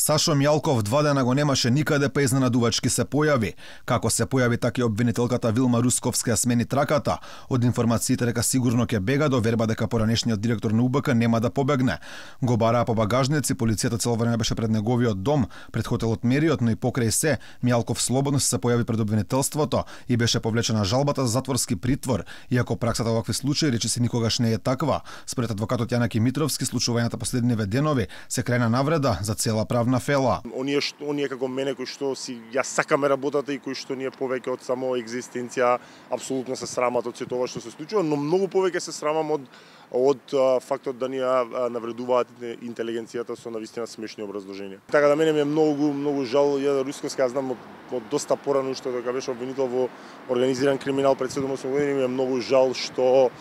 Сашо Мјалков 2 дена го немаше никаде, па изненадувачки се појави. Како се појави, така и обвинителката Вилма Русковска смени траката. Од информациите дека сигурно ќе бега до верба дека поранешниот директор на УБК нема да побегне. Го бараа по багажници, полицијата цело време беше пред неговиот дом, пред хотелот Мериот, но и покрај се, Мјалков слободно се појави пред обвинителството и беше повлечена жалбата за затворски притвор, иако праксата во вакви случаи речиси никогаш не е таква. Според адвокатот Јанаки Митровски, случувањата последниве денови се крајна навреда за цела правна фела. Оние како мене кои што си ја сакаме работата и кои што ние повеќе од само екзистенција апсолутно се срамат од сето ова што се случува, но многу повеќе се срамам од фактот да ни ја навредуваат интелигенцијата со навистина смешни образложенија. Така да мене ми е многу жал. Ја Русковска ја знам од доста порано што дека беше обвинител во организиран криминал пред 7-8 години, ми е многу жал што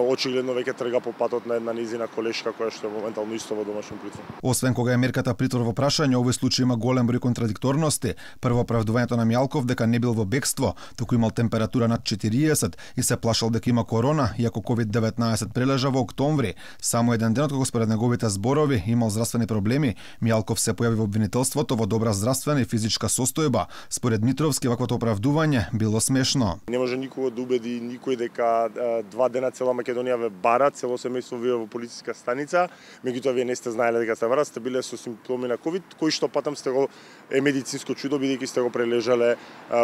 очигледно веќе трга по патот на една низина колешка која што е моментално исто во домашен притвор. Освен кога е мерката притвор во прашање, овој случај има голем број контрадикторности. Прво, оправдувањето на Мјалков дека не бил во бегство, туку имал температура над 40 и се плашал дека има корона, иако COVID-19 прележа во октомври. Само еден ден откако според неговите зборови имал здравствени проблеми, Мјалков се појави во обвинителството во добра здравствена и физичка состојба. Според Митровски, ваквото оправдување било смешно. Не може никого да убеди никој дека 2 дена цела Македонија ве бара, цело семејство вие во полициска станица, меѓутоа вие не сте знаеле дека се барат, сте биле со симптоми на ковид, кои што патам сте го е медицинско чудо бидејќи сте го прележале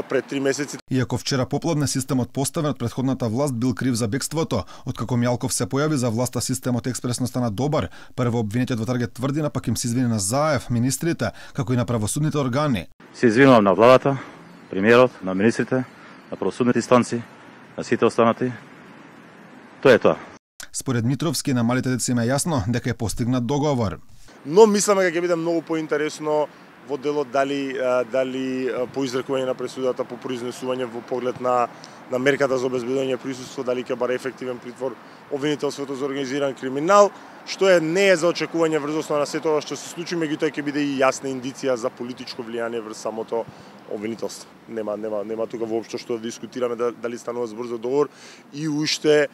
пред 3 месеци. Иако вчера попладне системот поставен од претходната власт бил крив за бегството, откако Мјалков се појави за власта системот експресно стана добар. Прво обвинетиот во Таргет тврди на пак им се извини на Заев, министрите, како и на правосудните органи. Се извинувам на владата, премиерот, на министрите, на правосудните инстанции, на сите останати. Тоа е тоа. Според Митровски, на малите деца им е јасно дека е постигнат договор. Но мисламе дека ќе биде многу поинтересно во делот дали по изрекување на пресудата, по произнесување во поглед на мерката за обезбедување присуство, дали ќе баре ефективен притвор обвинителството за организиран криминал, што не е за очекување врз основа на сето ова што се случи, меѓутоа ќе биде и јасна индиција за политичко влијание врз самото обвинителство. Нема тука воопшто што да дискутираме дали станува збор за договор и уште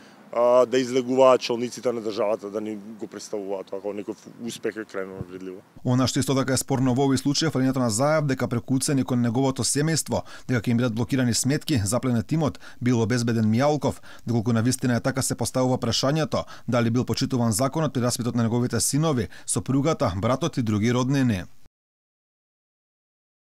да излегуваат челниците на државата да ни го представуваат тоа како некој успех е крајно вредливо. Она што исто така е спорно во овој случај, фалењето на Заев дека преку уцени кон неговото семејство, дека ќе им бидат блокирани сметки, запленет имот, бил обезбеден Мјалков, доколку навистина е така се поставува прашањето дали бил почитуван законот при распитот на неговите синови, сопругата, братот и други роднини.